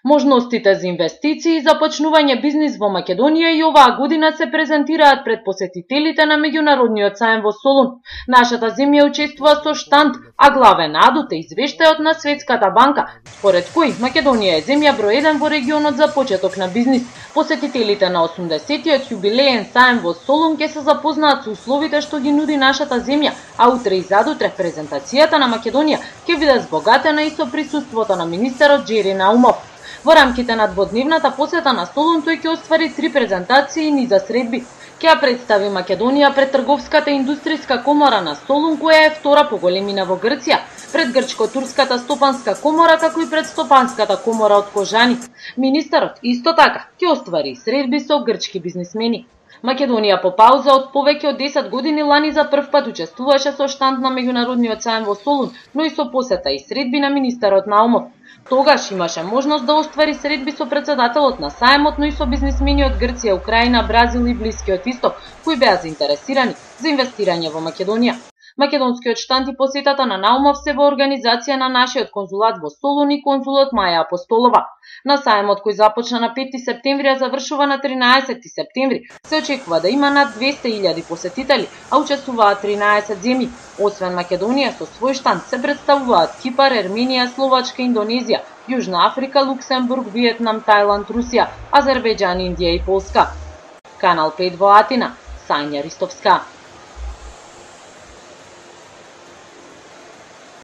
Можностите за инвестиции и започнување бизнис во Македонија и оваа година се презентираат пред посетителите на меѓународниот саем во Солун. Нашата земја учествува со штанд, а главен адут е извештајот на Светската банка, според кој Македонија е земја број 1 во регионот за почеток на бизнис. Посетителите на 80-тиот јубилеен саем во Солун ќе се запознаат со условите што ги нуди нашата земја, а утре и задутре презентацијата на Македонија ќе биде збогатена и со присуството на министерот Джери Наумов. Во рамките на дводневната посета на Солун тој ќе оствари 3 презентации и низа средби. Ќе ја представи Македонија пред Трговската и индустријска комора на Солун, која е втора по големина во Грција, пред Грчко-турската стопанска комора, како и пред Стопанската комора од Кожани. Министерот исто така ќе оствари средби со грчки бизнисмени. Македонија по пауза од повеќе од 10 години лани за прв пат учествуваше со штанд на меѓународниот саем во Солун, но и со посета и средби на министерот Наумов. Тогаш имаше можност да оствари средби со председателот на саемот, но и со бизнисмени од Грција, Украина, Бразил и Блискиот Исток, кои беа заинтересирани за инвестирање во Македонија. Македонскиот штанд и посетата на Наумов се во организација на нашиот конзулат во Солун и конзулот Маја Апостолова. На саемот кој започна на 5 септември, а завршува на 13 септември, се очекува да има над 200.000 посетители, а учествуваат 13 земји. Освен Македонија, со свој штанд се представуваат Кипар, Ерменија, Словачка, Индонезија, Јужна Африка, Луксембург, Виетнам, Тајланд, Русија, Азербејџан, Индија и Полска. Канал 5 во Атина, Сања Ристовска.